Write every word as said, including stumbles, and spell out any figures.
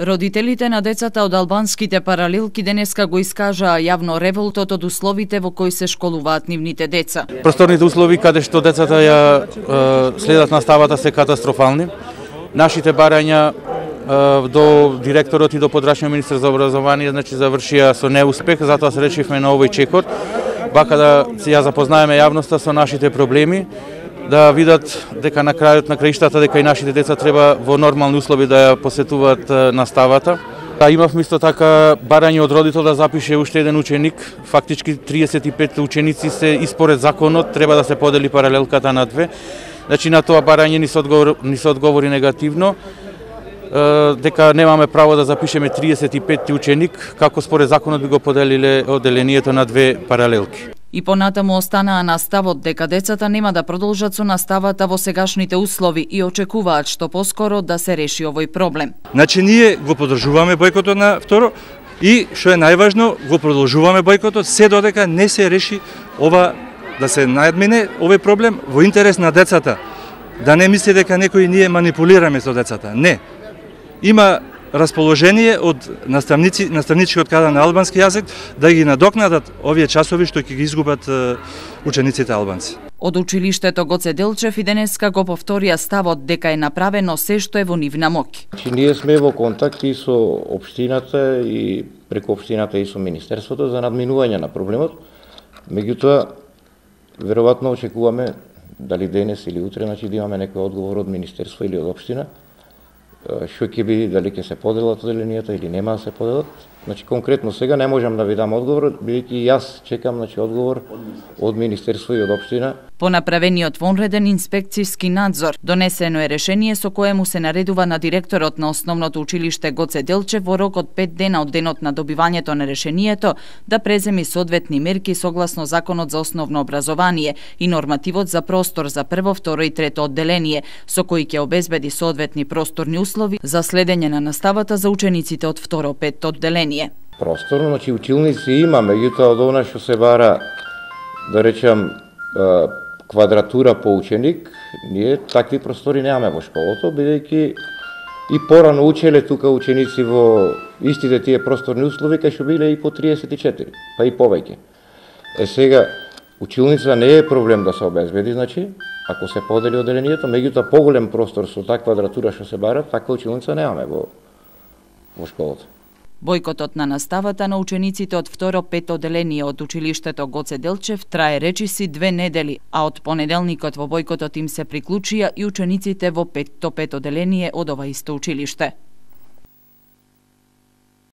Родителите на децата од албанските паралелки денеска го искажаа јавно револтот од условите во кои се школуваат нивните деца. Просторните услови каде што децата ја е, следат наставата се катастрофални. Нашите барања е, до директорот и до подрачниот министер за образование значи завршија со неуспех, затоа се речевме на овој чекор, бака да се ја запознаеме јавноста со нашите проблеми, да видат дека на крајот на краиштата дека и нашите деца треба во нормални услови да ја посетуваат наставата. Да, имавме исто така барање од родител да запише уште еден ученик, фактички триесет и пет ученици се испоред законот, треба да се подели паралелката на две. Значи на тоа барање ни се одговори, ни се одговори негативно, дека немаме право да запишеме триесет и пет ученик, како според законот би го поделиле одделението на две паралелки. И понатаму останаа на ставот дека децата нема да продолжат со наставата во сегашните услови и очекуваат што поскоро да се реши овој проблем. Значи ние го поддржуваме бојкотот на второ и што е најважно, го продолжуваме бојкотот се додека не се реши ова, да се надмине овој проблем во интерес на децата. Да не мисли дека некои ние манипулираме со децата. Не. Има расположение од наставници, наставничкиот кадар на албански јазик да ги надокнадат овие часови што ќе ги изгубат учениците албанци. Од училиштето Гоце Делчев и денеска го повторија ставот дека е направено се што е во нивна моќ. Значи, ние сме во контакт и со општината и преку општината и со министерството за надминување на проблемот. Меѓутоа, веројатно очекуваме дали денес или утре, значи да имаме некој одговор од министерство или од општина, што ќе биде, дали ќе се поделат одделенијата или нема да се поделат. Значи конкретно сега не можам да ви дам одговор, бидејќи јас чекам значи одговор од министерство и од општина. По направениот вонреден инспекцијски надзор, донесено е решение со кое му се наредува на директорот на основното училиште Гоце Делчев во рок од пет дена од денот на добивањето на решението да преземи соодветни мерки согласно Законот за основно образование и нормативот за простор за прво, второ и трето одделение, со кои ќе обезбеди соодветни просторни услови за следење на наставата за учениците од второ петто одделение. Просторно, значи училници има, меѓутоа од она што се бара, да речам, квадратура по ученик, ние такви простори немаме во школото, бидејќи и порано учеле тука ученици во истите тие просторни услови, кај што биле и по триесет и четири, па и повеќе. Е сега, училница не е проблем да се обезбеди, значи, ако се подели одделението, меѓутоа поголем простор со таа квадратура што се бара, таква училница немаме во, во школото. Бојкотот на наставата на учениците од второ петто одделение од училиштето Гоце Делчев трае речиси две недели, а од понеделникот во бојкотот им се приклучија и учениците во петто петто одделение од ова исто училиште.